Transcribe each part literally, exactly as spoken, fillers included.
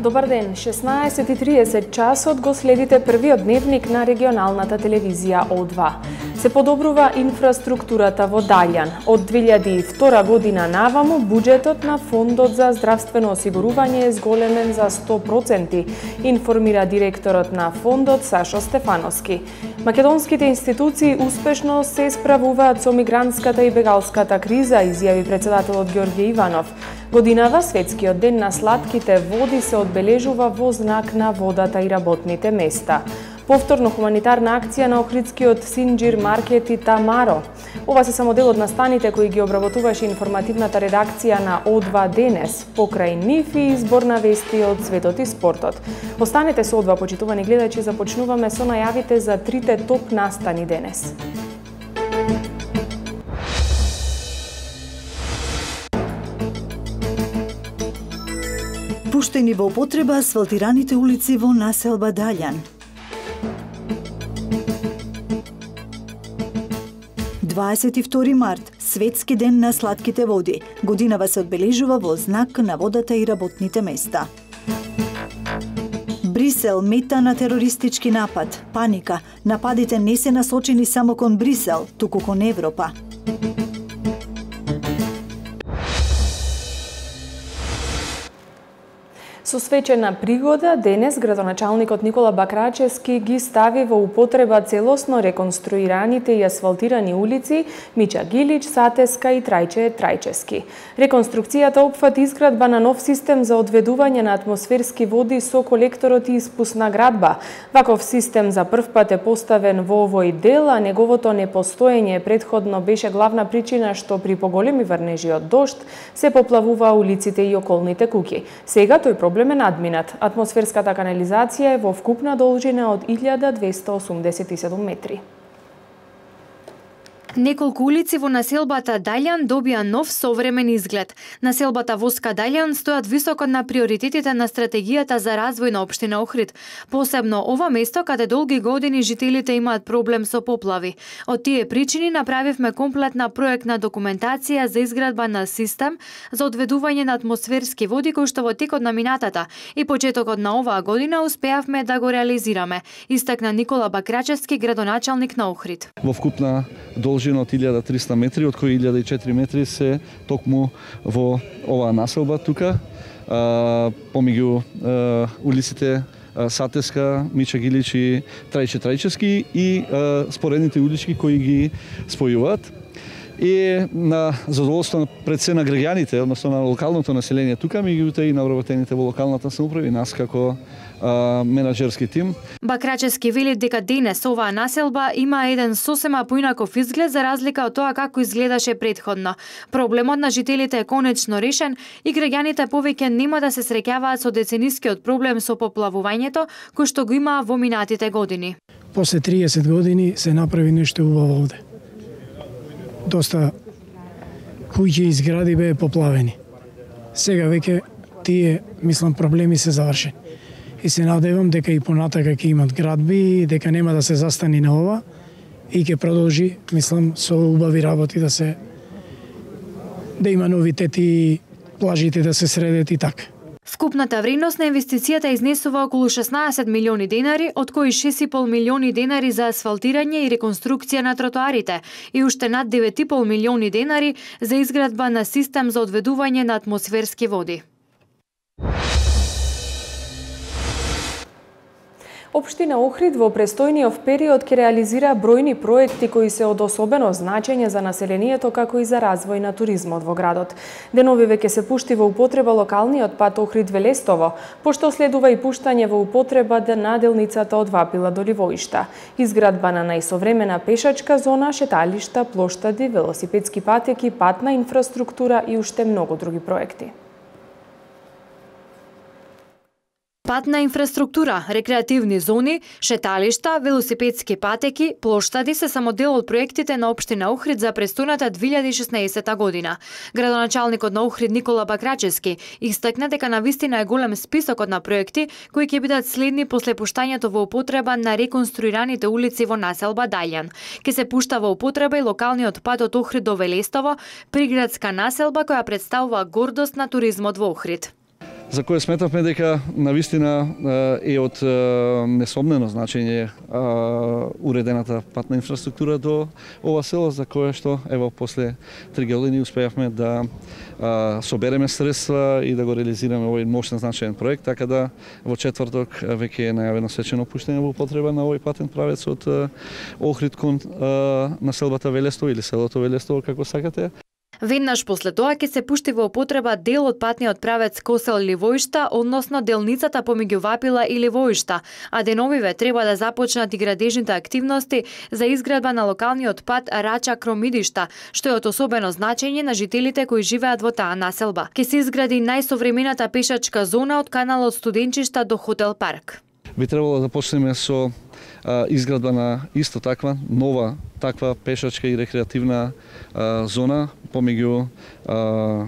Добар ден, шеснаесет и триесет часот го следите првиот дневник на регионалната телевизија О два. Се подобрува инфраструктурата во Далјан. Од две илјади и втора година наваму буџетот на Фондот за здравствено осигурување е зголемен за сто проценти, информира директорот на фондот Сашо Стефановски. Македонските институции успешно се справуваат со мигрантската и бегалската криза, изјави председателот Ѓорѓе Иванов. Годинава Светскиот ден на слатките води се одбележува во знак на водата и работните места. Повторно хуманитарна акција на Охридскиот Синџир маркет и Тамаро. Ова се само дел од настаните кои ги обработуваше информативната редакција на О два денес, покрај нив и избор на вести од светот и спортот. Останете со О два, почитувани гледачи, започнуваме со најавите за трите топ настани денес. Пуштени во употреба асфалтираните улици во населба Далјан. дваесет и втори март, Светски ден на слатките води. Годинава се одбележува во знак на водата и работните места. Брисел мета на терористички напад. Паника. Нападите не се насочени само кон Брисел, туку кон Европа. Со свечена пригода, денес градоначалникот Никола Бакрачевски ги стави во употреба целосно реконструираните и асфалтирани улици Мича Гилич, Сатеска и Трајче Трајчески. Реконструкцијата опфати изградба на нов систем за одведување на атмосферски води со колекторот и испусна градба. Ваков систем за прв пат е поставен во овој дел, а неговото непостоење претходно беше главна причина што при поголеми врнежи од дожд се поплавува улиците и околните куќи. Сега тој проблем е надминат. Атмосферската канализација е во вкупна должина од илјада двесте осумдесет и седум метри. Неколку улици во населбата Далјан добија нов современ изглед. Населбата Воска Далјан стојат високо на приоритетите на стратегијата за развој на општина Охрид. Посебно ова место каде долги години жителите имаат проблем со поплави. Од тие причини направивме комплетна проектна документација за изградба на систем за одведување на атмосферски води кој што во текот на минатата и почетокот на оваа година успеавме да го реализираме, истакна Никола Бакрачевски, градоначалник на Охрид. Во вкупна должина од илјада и триста метри, од кои илјада и четири метри се токму во оваа населба тука, помеѓу улиците Сатеска, Мича Гилич и Трајче Трајчески и споредните улички кои ги спојуваат. И на задоволство пред се на граѓаните, односно на локалното население тука, меѓутоа и на вработените во локалната самоуправа и нас како а, менаџерски тим. Бакрачевски вели дека денес оваа населба има еден сосема поинаков изглед за разлика од тоа како изгледаше претходно. Проблемот на жителите е конечно решен и граѓаните повеќе нема да се среќаваат со деценискиот проблем со поплавувањето кој што го има во минатите години. После триесет години се направи нешто убаво овде. Доста куќи и згради беа поплавени. Сега веќе тие, мислам, проблеми се завршени. И се надевам дека и понатака ќе имат градби, дека нема да се застани на ова и ќе продолжи, мислам, со убави работи да се да има новитети, плажите да се средат и така. Вкупната вредност на инвестицијата изнесува околу шеснаесет милиони денари, од кои шест и пол милиони денари за асфалтирање и реконструкција на тротоарите и уште над девет и пол милиони денари за изградба на систем за одведување на атмосферски води. Општина Охрид во престојниот период ќе реализира бројни проекти кои се од особено значење за населението како и за развој на туризмот во градот. Деновиве ќе се пушти во употреба локалниот пат Охрид-Велестово, пошто следува и пуштање во употреба на делницата од Вапила до Ливоишта. Изградба на најсовремена пешачка зона, шеталишта, плоштади, велосипедски патеки, патна инфраструктура и уште многу други проекти. Патна инфраструктура, рекреативни зони, шеталишта, велосипедски патеки, плоштади се само дел од проектите на општина Охрид за престојната две илјади и шеснаесета година. Градоначалникот на Охрид Никола Бакрачевски истакна дека навистина е голем списокот на проекти кои ќе бидат следни после пуштањето во употреба на реконструираните улици во населба Далјан. Ке се пушта во употреба и локалниот пат од Охрид до Велестово, приградска населба која представува гордост на туризмот во Охрид. за кое сметавме дека навистина е од несомнено значење уредената патна инфраструктура до ова село, за кое што ево после три години успеавме да собереме средства и да го реализираме овој мощен значаен проект, така да во четврток веќе е најавено свечено пуштење во употреба на овој патен правец од Охрид кон населбата Велестово или селото Велестово, како сакате. Веднаш после тоа ќе се пушти во употреба дел од патниот правец Косел-Ливоишта, односно делницата помеѓу Вапила и Ливоишта, а деновиве треба да започнат и градежните активности за изградба на локалниот пат Рача-Кромидишта, што е од особено значење на жителите кои живеат во таа населба. Ќе се изгради најсовремената пешачка зона од каналот Студенчишта до Хотел Парк. Би требало да почнеме со а, изградба на исто таква, нова таква пешачка и рекреативна а, зона помеѓу а,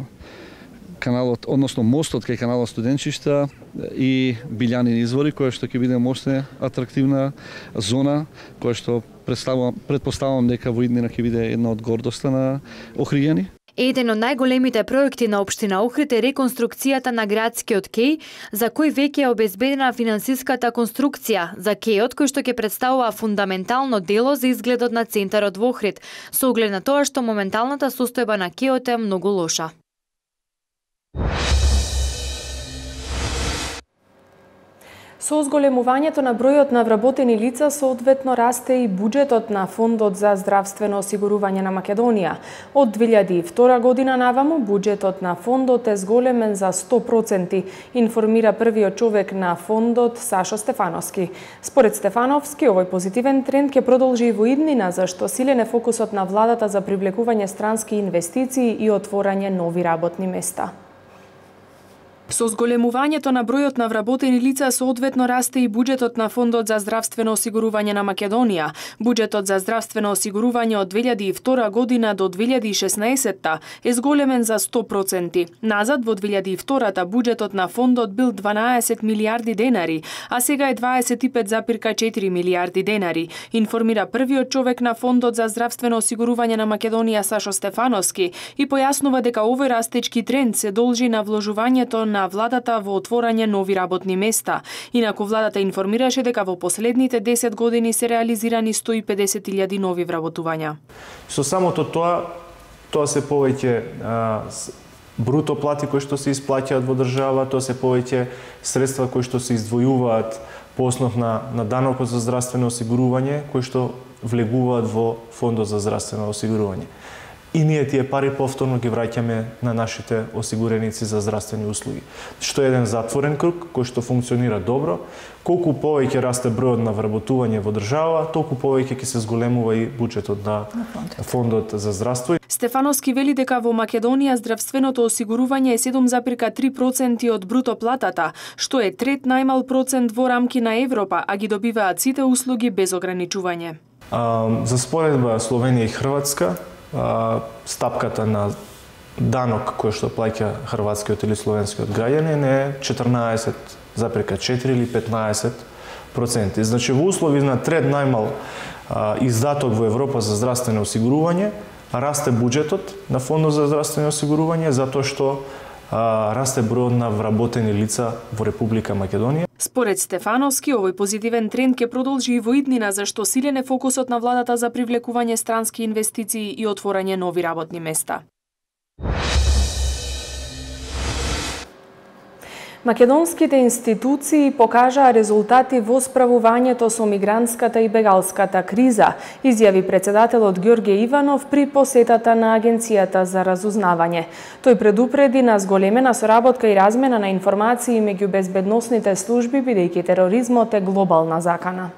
каналот, односно мостот кај каналот Студенчишта и Билјанин извори, која што ќе биде мощна, атрактивна зона, која што предпоставувам дека во иднина ќе биде една од гордоста на Охриѓани. Еден од најголемите проекти на општина Охрид е реконструкцијата на градскиот кеј, за кој веќе е обезбедена финансиската конструкција за кејот, кој што ќе представува фундаментално дело за изгледот на центарот во Охрид, со оглед на тоа што моменталната состојба на кејот е многу лоша. Со зголемувањето на бројот на вработени лица, соодветно расте и буџетот на Фондот за здравствено осигурување на Македонија. Од две илјади и втора година наваму, буџетот на Фондот е зголемен за сто проценти, информира првиот човек на Фондот Сашо Стефановски. Според Стефановски, овој позитивен тренд ќе продолжи и во иднина, зашто силен е фокусот на владата за привлекување странски инвестиции и отворање нови работни места. Со зголемувањето на бројот на вработени лица, соодветно расте и буџетот на Фондот за здравствено осигурување на Македонија. Буџетот за здравствено осигурување од две илјади и втора година до две илјади и шеснаесетта е зголемен за сто проценти. Назад во две илјади и втората буџетот на фондот бил дванаесет милијарди денари, а сега е дваесет и пет запирка четири милијарди денари, информира првиот човек на Фондот за здравствено осигурување на Македонија Сашо Стефановски и појаснува дека овој растечки тренд се должи на вложувањето на на владата во отворање нови работни места. Инаку владата информираше дека во последните десет години се реализирани сто и педесет илјади нови вработувања. Со самото тоа, тоа се повеќе а, бруто плати кои што се исплаќаат во држава, тоа се повеќе средства кои што се издвојуваат по основ на, на данокот за здравствено осигурување, кои што влегуваат во Фондот за здравствено осигурување. И ние тие пари повторно ги враќаме на нашите осигуреници за здравствени услуги. Што е еден затворен круг кој што функционира добро. Колку повеќе расте бројот на вработување во држава, толку повеќе ќе се зголемува и буџетот на Фондот за здравство. Стефановски вели дека во Македонија здравственото осигурување е седум запирка три проценти од бруто платата, што е трет најмал процент во рамки на Европа, а ги добиваат сите услуги без ограничување. А, за споредба Словенија и Хрватска, стапката на данок кој што плаќа хрватскиот или словенскиот граѓанин е четрнаесет запирка четири или петнаесет проценти. Значи во услови на трет најмал издаток во Европа за здравствено осигурување, расте буџетот на Фондот за здравствено осигурување затоа што расте бројот на вработени лица во Република Македонија. Според Стефановски, овој позитивен тренд ќе продолжи и во иднина, зашто силен е фокусот на владата за привлекување странски инвестиции и отворање нови работни места. Македонските институции покажаа резултати во справувањето со мигрантската и бегалската криза, изјави председателот Ѓорѓе Иванов при посетата на Агенцијата за разузнавање. Тој предупреди на зголемена соработка и размена на информации меѓу безбедносните служби, бидејќи тероризмот е глобална закана.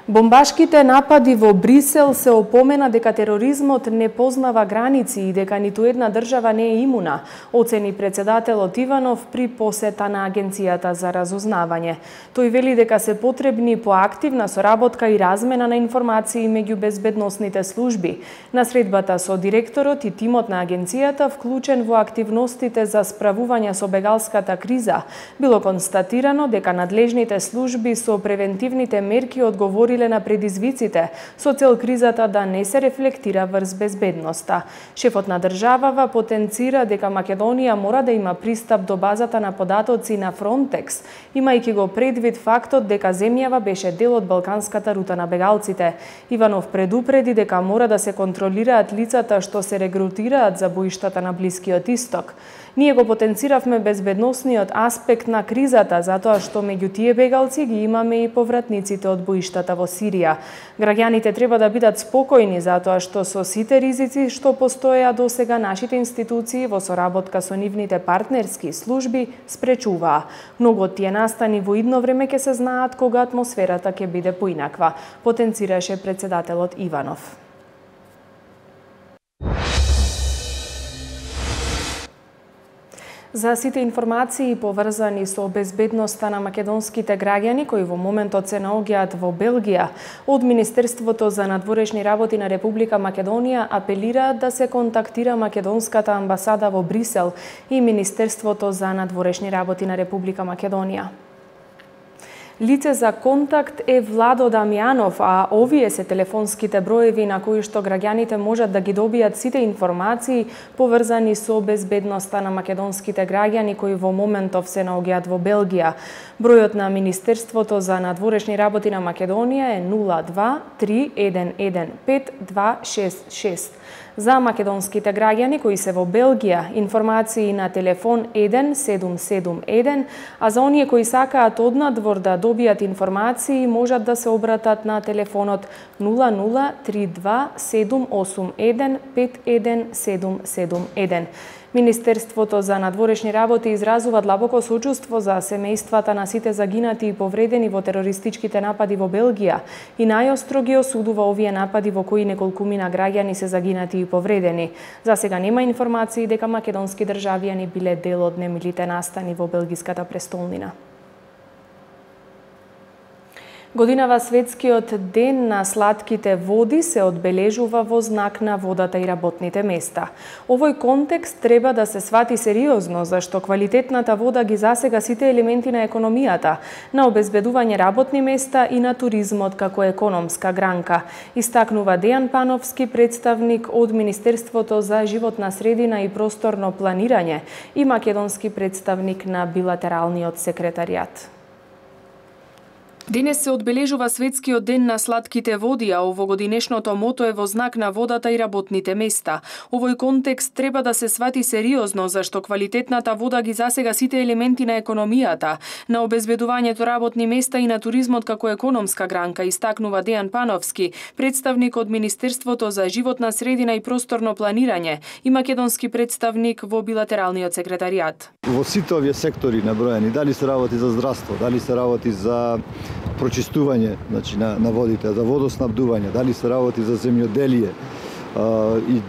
Бомбашките напади во Брисел се опомена дека тероризмот не познава граници и дека ниту една држава не е имуна, оцени председателот Иванов при посета на Агенцијата за разузнавање. Тој вели дека се потребни поактивна соработка и размена на информации меѓу безбедносните служби. На средбата со директорот и тимот на агенцијата, вклучен во активностите за справување со бегалската криза, било констатирано дека надлежните служби со превентивните мерки одговориле одговориле на предизвиците со цел кризата да не се рефлектира врз безбедноста. Шефот на државава потенцира дека Македонија мора да има пристап до базата на податоци на Фронтекс, имајќи го предвид фактот дека земјава беше дел од балканската рута на бегалците. Иванов предупреди дека мора да се контролираат лицата што се регрутираат за боиштата на Блискиот Исток. Ние го потенциравме безбедносниот аспект на кризата, затоа што меѓу тие бегалци ги имаме и повратниците од боиштата во Сирија. Граѓаните треба да бидат спокојни затоа што со сите ризици што постоеа досега, нашите институции во соработка со нивните партнерски служби спречуваа. Многу од тие настани во идно време ќе се знаат кога атмосферата ќе биде поинаква, потенцираше председателот Иванов. За сите информации поврзани со безбедноста на македонските граѓани кои во моментот се наоѓаат во Белгија, од Министерството за надворешни работи на Република Македонија апелираат да се контактира македонската амбасада во Брисел и Министерството за надворешни работи на Република Македонија. Лице за контакт е Владо Дамјанов, а овие се телефонските броеви на кои што граѓаните можат да ги добијат сите информации поврзани со безбедноста на македонските граѓани кои во моментов се наоѓаат во Белгија. Бројот на Министерството за надворешни работи на Македонија е нула два три еден еден пет два шест шест. За македонските граѓани кои се во Белгија, информации на телефон еден седум седум еден, а за оние кои сакаат однадвор да добијат информации можат да се обратат на телефонот нула нула три два седум осум еден пет еден седум седум еден. Министерството за надворешни работи изразува длабоко сочувство за семејствата на сите загинати и повредени во терористичките напади во Белгија и најостро ги осудува овие напади во кои неколкумина граѓани се загинати и повредени. За сега нема информации дека македонски државјани биле дел од немилите настани во белгиската престолнина. Годинава Светскиот ден на слатките води се одбележува во знак на водата и работните места. Овој контекст треба да се свати сериозно, зашто квалитетната вода ги засега сите елементи на економијата, на обезбедување работни места и на туризмот како економска гранка, истакнува Дејан Пановски, представник од Министерството за животна средина и просторно планирање и македонски представник на билатералниот секретаријат. Денес се одбележува Светскиот ден на слатките води, а овогодинешното мото е во знак на водата и работните места. Овој контекст треба да се свати сериозно, зашто квалитетната вода ги засега сите елементи на економијата, на обезбедувањето работни места и на туризмот како економска гранка, истакнува Дејан Пановски, представник од Министерството за животна средина и просторно планирање и македонски представник во билатералниот секретаријат. Во сите овие сектори наброени, дали се работи за здравство, дали се работи за прочистување, значи на, на водите, за водоснабдување, дали се работи за земјоделие а, и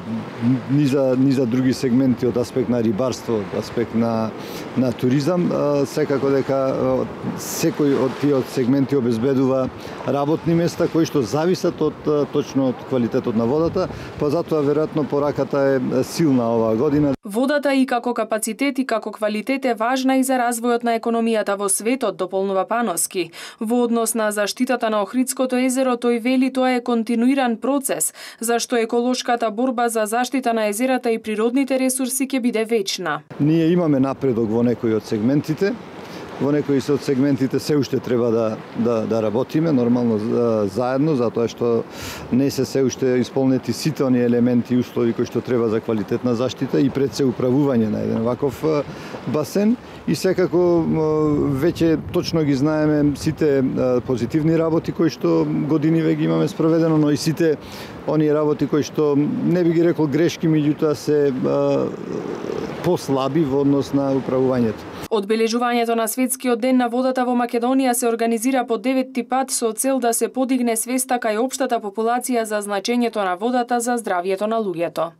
ни за, ни за други сегменти од аспект на рибарство, од аспект на, на туризам, а, секако дека а, секој од тие сегменти обезбедува работни места кои што зависат од точно од квалитетот на водата, па затоа веројатно пораката е силна оваа година. Водата и како капацитет и како квалитет е важна и за развојот на економијата во светот, дополнува Пановски. Во однос на заштитата на Охридското езеро, тој вели тоа е континуиран процес, зашто еколошката борба за заштита на езерата и природните ресурси ќе биде вечна. Ние имаме напредок во некои од сегментите. Во некои од сегментите се уште треба да, да, да работиме, нормално заедно, затоа што не се се уште исполнети сите оние елементи и услови кои што треба за квалитетна заштита и пред се управување на еден ваков басен. И секако веќе точно ги знаеме сите позитивни работи кои што години веќе имаме спроведено, но и сите оние работи кои што не би ги рекол грешки, меѓутоа се послаби во однос на управувањето. Одбележувањето на Светскиот ден на водата во Македонија се организира по деветти пат со цел да се подигне свеста кај општата популација за значењето на водата за здравјето на луѓето.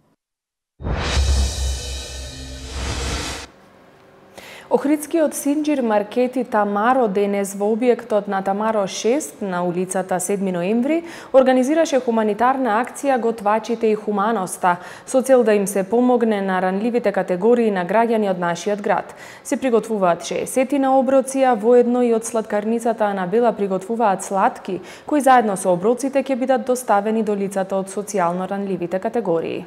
Охридскиот Синџир маркети Тамаро денес во објектот на Тамаро шест на улицата седми ноември организираше хуманитарна акција Готвачите и хуманоста со цел да им се помогне на ранливите категории на граѓани од нашиот град. Се приготвуваат шеесет оброци, а воедно и од сладкарницата Анабела приготвуваат сладки, кои заедно со оброците ќе бидат доставени до лицата од социјално ранливите категории.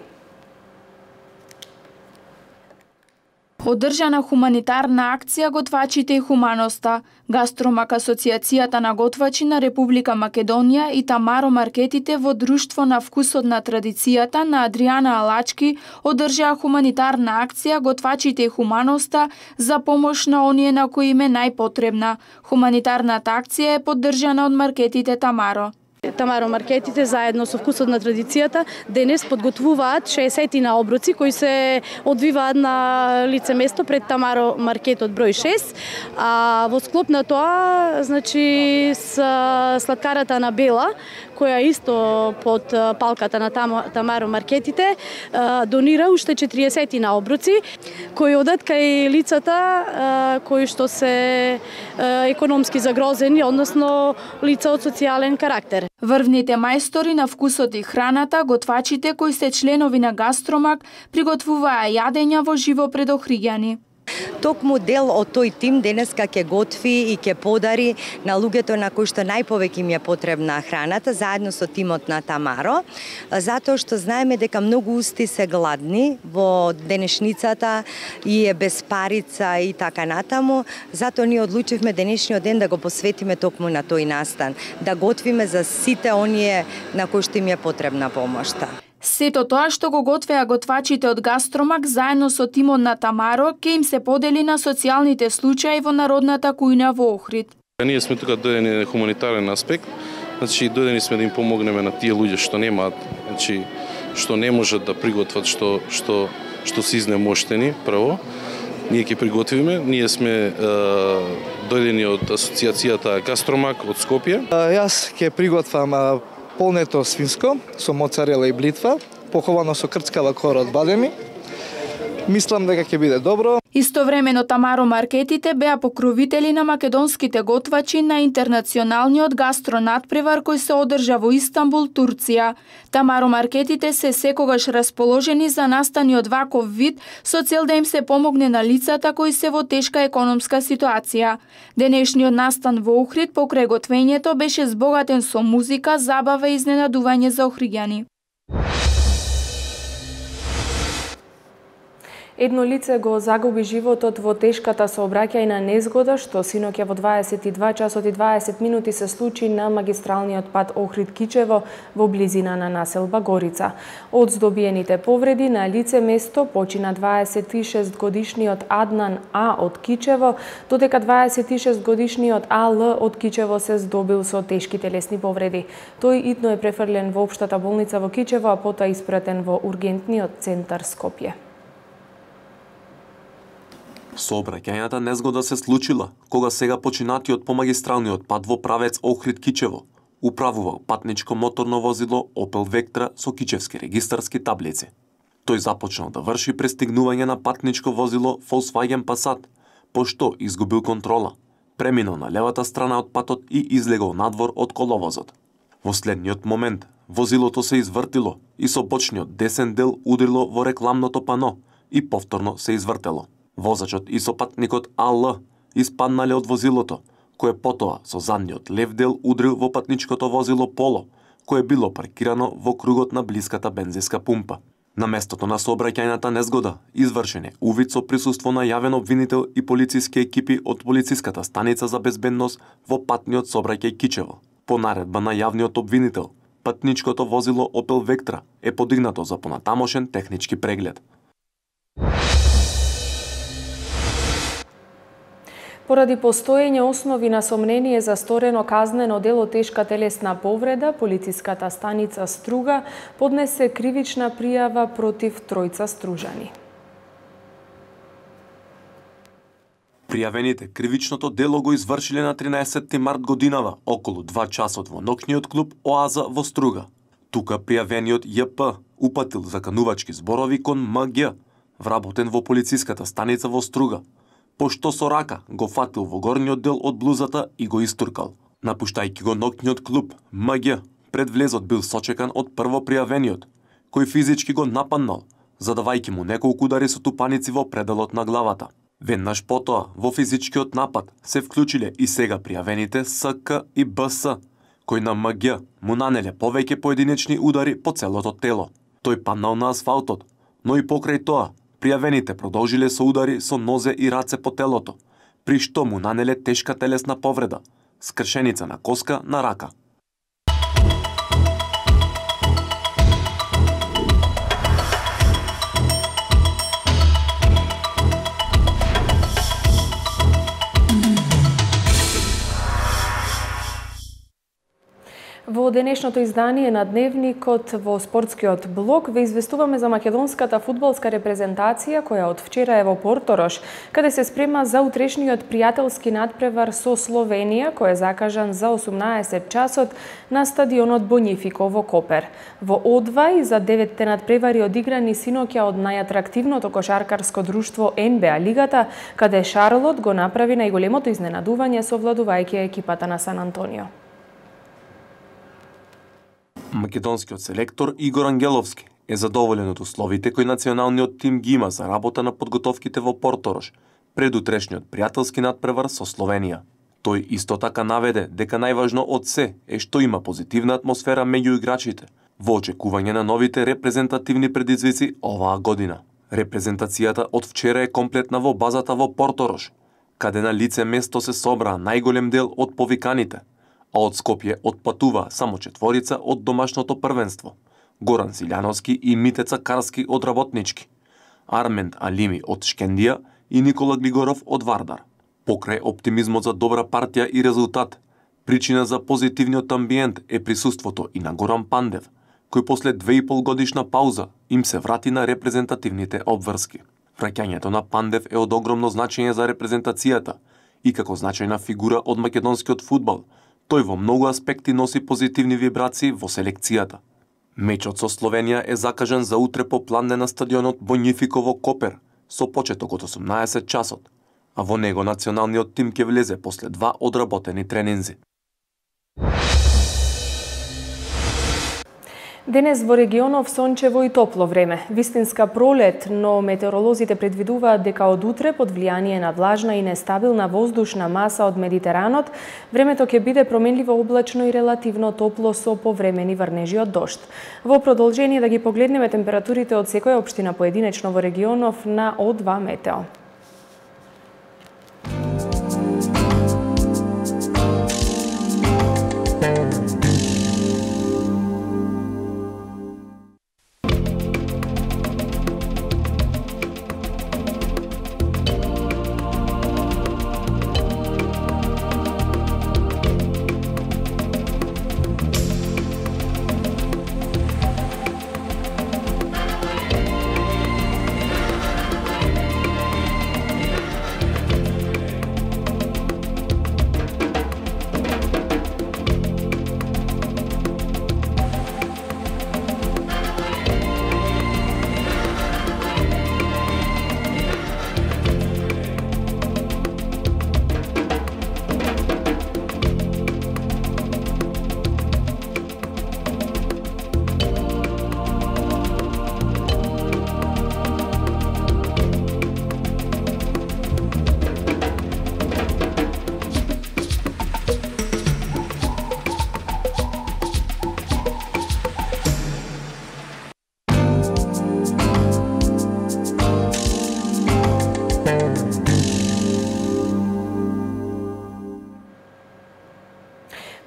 Одржана хуманитарна акција Готвачите и хуманоста, Гастромак Асоцијацијата на готвачи на Република Македонија и Тамаро маркетите во Друштво на вкусот на традицијата на Адријана Алачки одржаа хуманитарна акција Готвачите и хуманоста за помош на оние на кои им е најпотребна. Хуманитарната акција е поддржана од маркетите Тамаро. Тамаро маркетите заедно со вкусот на традицијата денес подготвуваат шеесет оброци кои се одвиваат на лице место пред Тамаро маркетот број шест. А во склоп на тоа, значи, с сладкарата Анабела, која исто под палката на Тамаро маркетите, донира уште четириесет оброци кои одат кај лицата кои што се економски загрозени, односно лица од социјален карактер. Врвните мајстори на вкусот и храната, готвачите кои се членови на Гастромак, приготвуваа јадења во живо пред охриѓани. Токму дел од тој тим денеска ќе готви и ќе подари на луѓето на кои што најповеќе им е потребна храната, заедно со тимот на Тамаро, затоа што знаеме дека многу усти се гладни во денешницата и е без парица и така натаму, затоа ние одлучивме денешниот ден да го посветиме токму на тој настан, да готвиме за сите оние на кои што им е потребна помошта. Сето тоа што го готвеа готвачите од Гастромак заедно со тимот на Тамаро ќе им се подели на социјалните случаи во народната кујна во Охрид. Ние сме тука дојдени на хуманитарен аспект, значи дојдени сме да им помогнеме на тие луѓе што немаат, значи што не можат да приготват, што што што се изнемоштени прво. Ние ќе приготвиме, ние сме е, дојдени од асоцијацијата Гастромак од Скопје. Јас ќе приготвам полнето свинско со моцарела и блитва, поховано со крцкава кора од бадеми. Мислам дека ќе биде добро. Истовремено Тамаро маркетите беа покровители на македонските готвачи на интернационалниот гастронатпревар кој се одржа во Истанбул, Турција. Тамаро маркетите се секогаш расположени за настани од ваков вид со цел да им се помогне на лицата кои се во тешка економска ситуација. Денешниот настан во Охрид покрај готвењето беше збогатен со музика, забава и изненадување за охриѓани. Едно лице го загуби животот во тешката сообраќајна незгода што синоќа во дваесет и два часот и дваесет минути се случи на магистралниот пат Охрид-Кичево во близина на населба Горица. Од здобиените повреди на лице место почина дваесет и шест годишниот Аднан А од Кичево, додека дваесет и шест годишниот А Л од Кичево се здобил со тешки телесни повреди. Тој итно е префрлен во општата болница во Кичево, а потоа испратен во ургентниот центар Скопје. Сообраќајната незгода се случила кога сега починатиот по магистралниот пат во правец Охрид-Кичево управувал патничко моторно возило Opel Vectra со кичевски регистарски таблици. Тој започнал да врши пристигнување на патничко возило Volkswagen Passat, пошто изгубил контрола, преминал на левата страна од патот и излегол надвор од коловозот. Во следниот момент возилото се извртило и со бочниот десен дел удрило во рекламното пано и повторно се извртело. Возачот и сопатникот А Л испаднале од возилото, кое потоа со задниот лев дел удрил во патничкото возило Поло, кое било паркирано во кругот на блиската бензинска пумпа. На местото на сообраќајната незгода извршен е увид со присуство на јавен обвинител и полициски екипи од полициската станица за безбедност во патниот сообраќај Кичево. По наредба на јавниот обвинител, патничкото возило Opel Vectra е подигнато за понатамошен технички преглед. Поради постоење основи на сомнение за сторено казнено дело тешка телесна повреда, полициската станица Струга поднесе кривична пријава против тројца стружани. Пријавените кривичното дело го извршиле на тринаесетти март годинава, околу два часот во ноќниот клуб Оаза во Струга. Тука пријавениот Ј П упатил заканувачки зборови кон М Г, вработен во полициската станица во Струга, пошто со рака го фатил во горниот дел од блузата и го истуркал. Напуштајќи го ноќниот клуб, М Г пред влезот бил сочекан од првопријавениот, кој физички го нападнал, задавајќи му неколку удари со тупаници во пределот на главата. Веднаш потоа, во физичкиот напад се вклучиле и сега пријавените С К и Б С, кој на М Г му нанеле повеќе поединечни удари по целото тело. Тој паднал на асфалтот, но и покрај тоа, пријавените продолжиле со удари со нозе и раце по телото, при што му нанеле тешка телесна повреда, скршеница на коска на рака. Во денешното издание на Дневникот во спортскиот блок ве известуваме за македонската фудбалска репрезентација која од вчера е во Порторош, каде се спрема за утрешниот пријателски надпревар со Словенија, кој е закажан за осумнаесет часот на стадионот Бонифико во Копер. Во О два и за деветте надпревари одиграни синоќа од најатрактивното кошаркарско друштво Н Б А лигата, каде Шарлот го направи најголемото изненадување совладувајќи екипата на Сан Антонио. Македонскиот селектор Игор Ангеловски е задоволен од условите кои националниот тим ги има за работа на подготовките во Порторош пред утрешниот пријателски надпревар со Словенија. Тој исто така наведе дека најважно од се е што има позитивна атмосфера меѓу играчите во очекување на новите репрезентативни предизвици оваа година. Репрезентацијата од вчера е комплетна во базата во Порторош, каде на лице место се собраа најголем дел од повиканите, а од Скопје отпатува само четворица од домашното првенство: Горан Силјановски и Митеца Карски од Работнички, Арменд Алими од Шкендија и Никола Глигоров од Вардар. Покрај оптимизмот за добра партија и резултат, причина за позитивниот амбиент е присуството и на Горан Пандев, кој после две и пол годишна пауза им се врати на репрезентативните обврски. Враќањето на Пандев е од огромно значење за репрезентацијата и како значајна фигура од македонскиот фудбал, тој во многу аспекти носи позитивни вибрации во селекцијата. Мечот со Словенија е закажан за утре по план на стадионот Бонифико во Копер со почеток од осумнаесет часот, а во него националниот тим ќе влезе после два одработени тренинзи. Денес во регионов сончево и топло време. Вистинска пролет, но метеоролозите предвидуваат дека од утре под влијание на влажна и нестабилна воздушна маса од Медитеранот, времето ќе биде променливо облачно и релативно топло со повремени врнежи од дожд. Во продолжение да ги погледнеме температурите од секоја општина поединечно во регионов на О два Метео.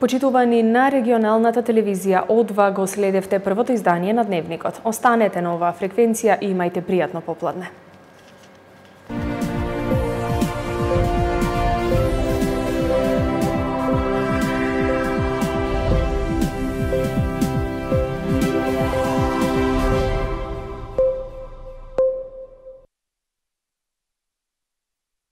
Почитувани на регионалната телевизија О два го следевте првото издание на Дневникот. Останете на оваа фреквенција и имајте пријатно попладне.